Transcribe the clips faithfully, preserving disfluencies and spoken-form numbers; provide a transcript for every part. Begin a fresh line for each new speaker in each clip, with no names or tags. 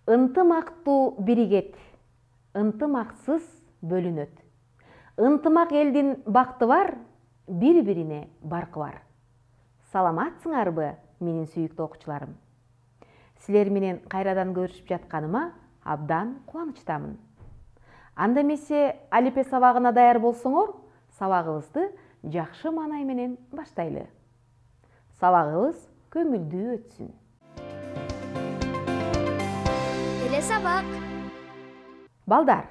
Ынтымактуу биригет, ынтымаксыз бөлүнөт. Ынтымак элдин бакты бар, бири-бирине баркы бар. Саламатсыңарбы, менин сүйүктүү окуучуларым? Силер менен кайрадан көрүшүп жатканыма абдан кубанычтамын. Анда эмесе алипе сабагына даяр болсоңор, сабагыбызды жакшы маанай менен баштайлы. Сабагыбыз көңүлдүү өтсүн.
Эле сабак.
Балдар,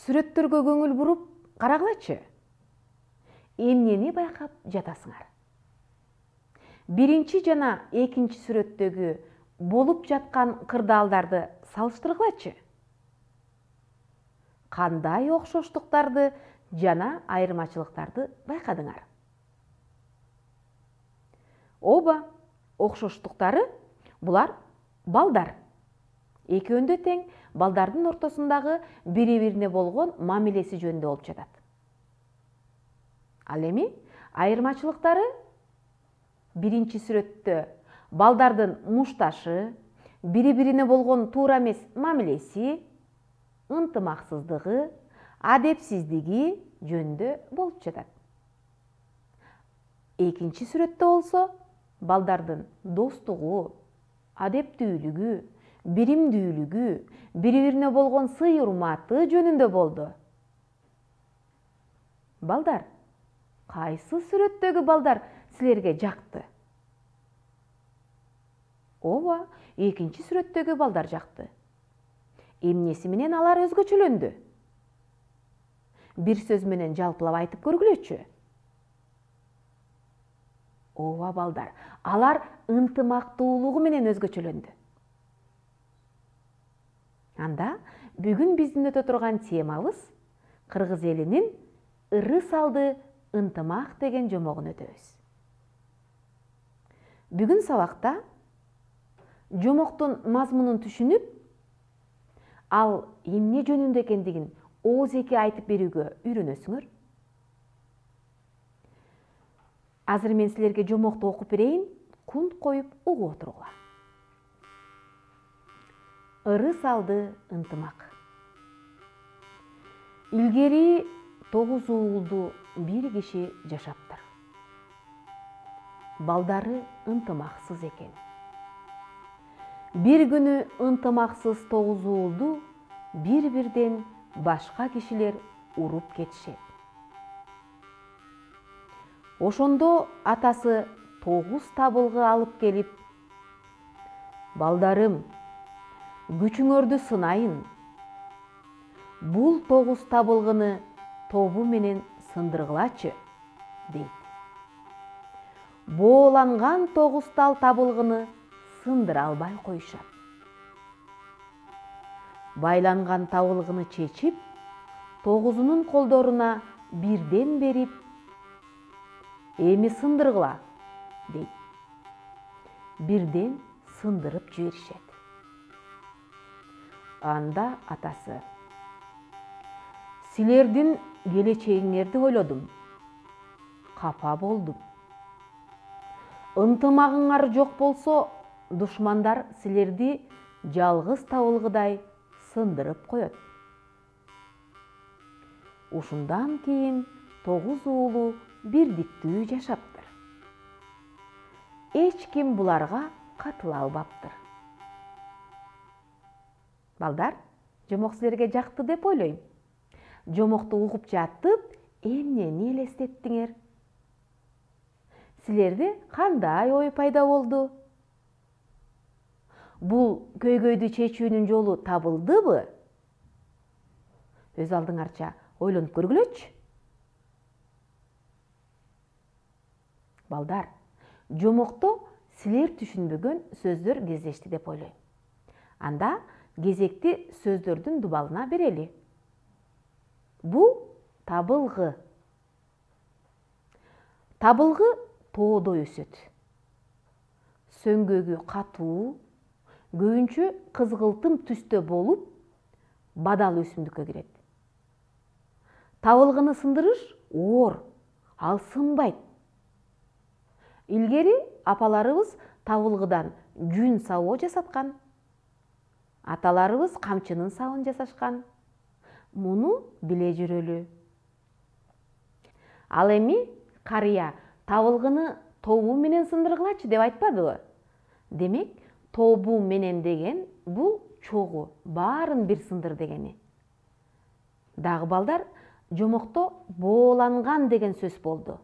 сүрөттөргө көңүл буруп карагылачы. Эмнени байкап жатасыңар? Биринчи жана экинчи сүрөттөгү болуп жаткан кырдаалдарды салыштыргылачы. Кандай окшоштуктарды жана айырмачылыктарды байкадыңар? Оба, окшоштуктары булар балдар. Экөөндө тең балдардын ортосундагы бири-бирине болгон мамилеси жөнүндө болуп жатат. Ал эми айырмачылыктары биринчи сүрөттө балдардын мушташы, бири-бирине болгон туура эмес мамилеси, ынтымаксыздыгы, адепсиздиги жөнүндө болуп жатат. Экинчи сүрөттө болсо балдардын достугу, адептүүлүгү, биримдүүлүгү, бири-бирине болгон сый-урматы жөнүндө болду. Балдар, кайсы сүрөттөгү балдар силерге жакты? Ооба, экинчи сүрөттөгү балдар жакты. Эмнеси менен алар өзгөчөлөндү? Бир сөз менен жалпылап айтып көргүлөчү. Ооба балдар, алар ынтымактуулугу менен өзгөчөлөндү. Анда бүгүн биздин өтө турган темабыз кыргыз элинин ыры салды ынтымак деген жомогун өтөбүз. Бүгүн сабакта жомоктун мазмунун түшүнүп, ал эмне жөнүндө экендигин оозеки айтып берүүгө үйрөнөсүңөр. Азыр мен силерге жомокту окуп берейин, кунт коюп угуп отургула. Ыры салды ынтымак. Илгери тогуз уулду бир киши жашаптыр. Балдары ынтымаксыз экен. Бир күнү ынтымаксыз тогуз уулду бир-бирден башка кишилер уруп кетишет. Ошондо атасы тогуз табылгы алып келип: "Балдарым, күчүңөрдү сынайын. Бул тогуз табылгыны тобу менен сындыргылачы", дейт. Бооланган тогуз тал табылгыны сындыра албай коюшат. Байланган табылгыны чечип, тогузунун колдоруна бирден берип: "Эми сындыргыла", дейт. Бирден сындырып жиберишет. Анда атасы: "Силердин келечегиңерди ойлодум. Капа болдум. Ынтымагыңар жок болсо, душмандар силерди жалгыз табылгыдай сындырып коет". Ушундан кийин тогуз уулу бирдиктүү жашаптыр. Эч ким буларга катыла албаптыр. Балдар, жомок силерге жакты деп ойлойм. Жомокту угуп жатып, эмнени элестеттиңер? Силерде кандай ой пайда болду? Бул көйгөйдү чечүүнүн жолу табылдыбы? Өз алдыңарча ойлонуп көргүлөчү. Балдар, жомокто силер түшүнбөгөн сөздөр кездешти деп ойлойм. Анда кезекти сөздөрдүн дубалына берели. Бул табылгы. Табылгы тоодо өсөт. Сөңгөгү катуу, көбүнчө кызгылтым түстө болуп, бадал өсүмдүккө кирет. Табылгыны сындырыш оор, ал сынбайт. Илгери апаларыбыз табылгыдан жүн сабоо жасаткан. Аталарыбыз камчынын сабын жасашкан. Муну биле жүрөлү. Ал эми карыя табылгыны тобу менен сындыргылачы деп айтпадыбы? Демек, тобу менен деген бул чогуу, баарын бир сындыр дегени. Дагы балдар, жомокто бооланган деген сөз болду.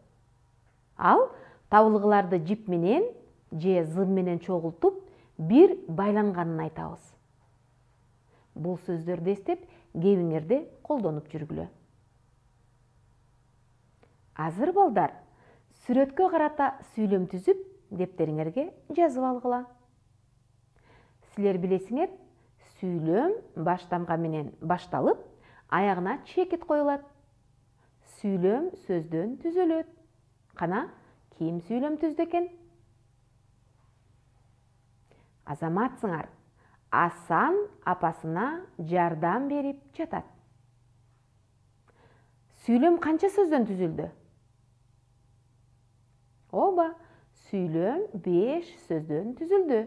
Ал табылгыларды жип менен же зым менен чогултуп бир байланганын айтабыз. Бул сөздөрдү эстеп, кебиңерде колдонуп жүргүлө. Азыр балдар, сүрөткө карата сүйлөм түзүп, дептериңерге жазып алгыла. Силер билесиңер, сүйлөм баштамга менен башталып, аягына чекит коюлат. Сүйлөм сөздөн түзүлөт. Кана, ким сүйлөм түздү экен? Азаматсыңар. Асан апасына жардам берип жатат. Сүйлөм канча сөздөн түзүлдү? Ооба, сүйлөм беш сөздөн түзүлдү.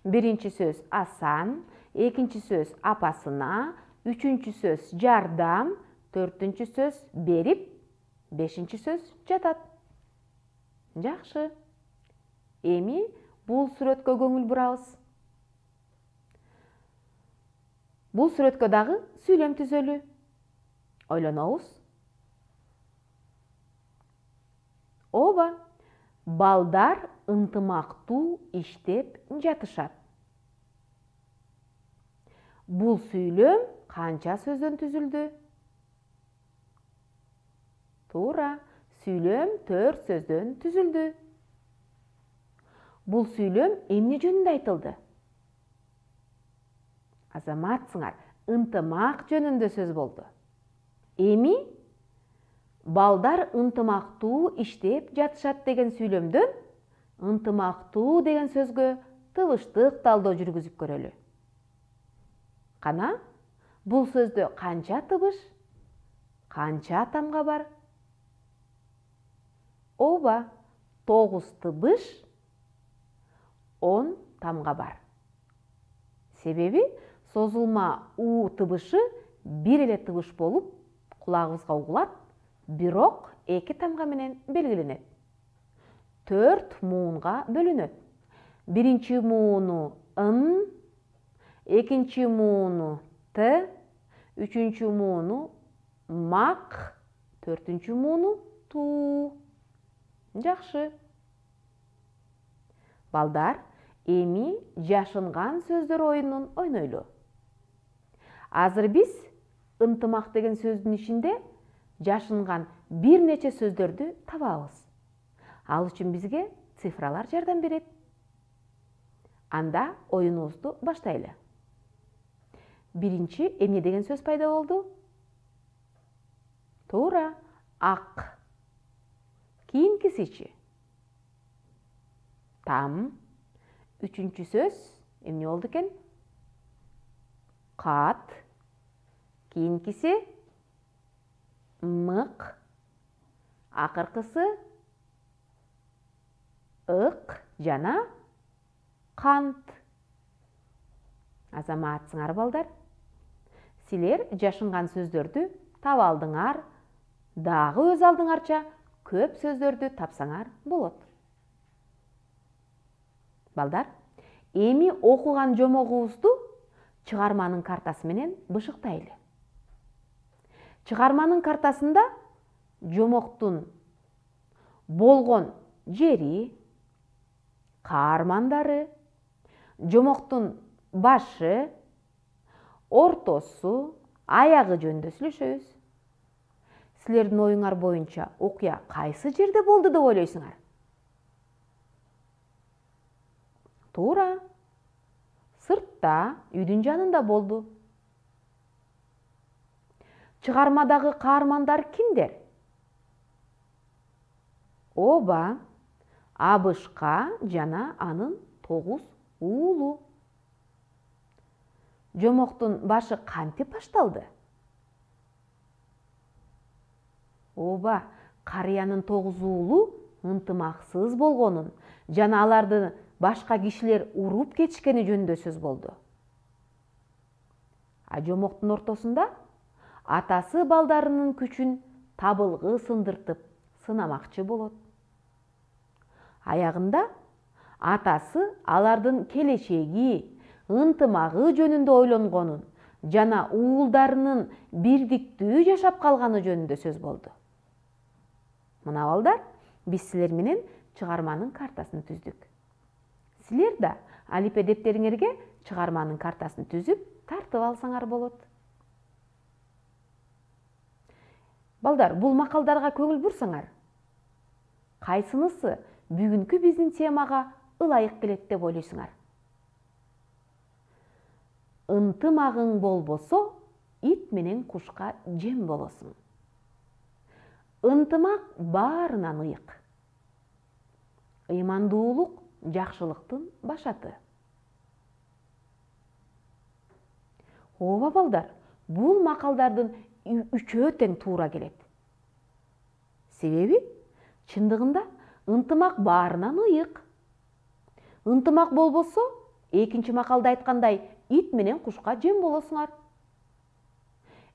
Биринчи сөз асан, экинчи сөз апасына, үчүнчү сөз жардам, төртүнчү сөз берип, бешинчи сөз жатат. Жакшы. Эми бул сүрөткө көңүл бурабыз. Бул сүрөткө дагы сүйлөм түзөлү. Ойлонобуз. Ооба, балдар ынтымактуу иштеп жатышат. Бул сүйлөм канча сөздөн түзүлдү? Туура, сүйлөм төрт сөздөн түзүлдү. Бул сүйлөм эмне жөнүндө айтылды? Азаматсыңар, ынтымак жөнүндө сөз болду. Эми балдар ынтымактуу иштеп жатышат деген сүйлөмдөн ынтымактуу деген сөзгө тыбыштык талдоо жүргүзүп көрөлү. Кана, бул сөздө канча тыбыш, канча тамга бар? Ооба, тогуз тыбыш, он тамга бар. Себеби созулма у тыбышы бир эле тыбыш болуп, кулагыбызга угулат, бирок эки тамга менен белгиленет. Төрт муунга бөлүнөт. Биринчи мууну ын, экинчи мууну т, үчүнчү мууну мак, төртүнчү мууну ту. Жакшы. Балдар, эми жашынган сөздөр оюнун ойнойлу. Азыр биз ынтымак деген сөздүн ичинде жашынган бир нече сөздөрдү табабыз. Ал үчүн бизге цифралар жардам берет. Анда оюнубузду баштайлы. Биринчи эмне деген сөз пайда болду? Туура, ак. Кийинкисичи? Там. Үчүнчү сөз эмне болду экен? Кат. Кийинкиси? Мык. Акыркысы? Ык жана кант. Азаматсыңар балдар. Силер жашынган сөздөрдү таба алдыңар, дагы өз алдыңарча көп сөздөрдү тапсаңар болот. Балдар, эми окуган жомогубузду чыгарманын картасы менен бышыктайлы. Чыгарманын картасында жомоктун болгон жери, каармандары, жомоктун башы, ортосу, аягы жөнүндө сүйлөшөбүз. Силердин оюңар боюнча окуя кайсы жерде болду деп ойлойсуңар? Туура. Сыртта, үйдүн жанында болду. Чыгармадагы каармандар кимдер? Ооба, Абышка жана анын тогуз уулу. Жомоктун башы кантип башталды? Ооба, карыянын тогуз уулу ынтымаксыз болгонун жана аларды башка кишилер уруп кетишкени жөнүндө сөз болду. А жомоктун ортосунда атасы балдарынын күчүн табылгы сындыртып сынамакчы болот. Аягында атасы алардын келечеги, ынтымагы жөнүндө ойлонгонун жана уулдарынын бирдиктүү жашап калганы жөнүндө сөз болду. Мына балдар, биз силер менен чыгарманын картасын түздүк. Силер да алипе дептериңерге чыгарманын картасын түзүп тартып алсаңар болот. Балдар, бул макалдарга көңүл бурсаңар, кайсынысы бүгүнкү биздин темага ылайык келет деп ойлойсуңар? Ынтымагың болбосо, ит менен кушка жем болосуң. Ынтымак баарынан ыйык. Ыймандуулук жакшылыктын башаты. Ооба балдар, бул макалдардын үчөө тең туура келет. Себеби чындыгында ынтымак баарынан ыйык. Ынтымак болбосо, экинчи макалда айткандай, ит менен кушка жем болосуңар.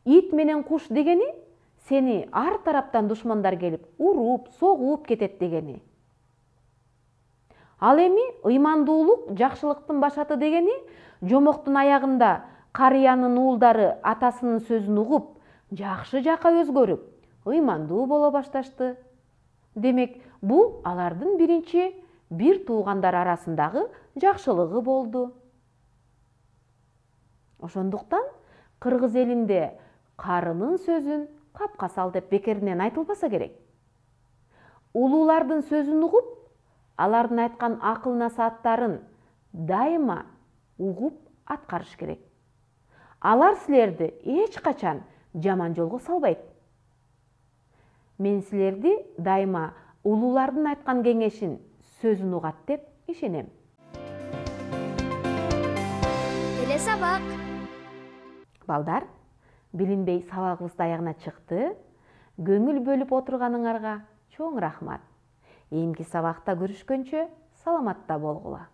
Ит менен куш дегени сени ар тараптан душмандар келип, уруп, согуп кетет дегени. Ал эми ыймандуулук жакшылыктын башаты дегени жомоктун аягында карыянын уулдары атасынын сөзүн угуп, жакшы жака өзгөрүп, ыймандуу боло башташты. Демек, бул алардын биринчи бир туугандар арасындагы жакшылыгы болду. Ошондуктан кыргыз элинде карынын сөзүн капка сал деп бекеринен айтылбаса керек. Улуулардын сөзүн угуп, алардын айткан акыл насааттарын дайыма угуп аткарыш керек. Алар силерди эч качан жаман жолго салбайт. Мен силерди дайыма улуулардын айткан кеңешин, сөзүн угат деп ишенем.
Эле сабак.
Балдар, билинбей сабагыбыз аягына чыкты. Көңүл бөлүп отурганыңарга чоң рахмат. Эмки сабакта көрүшкөнчө саламатта болгула.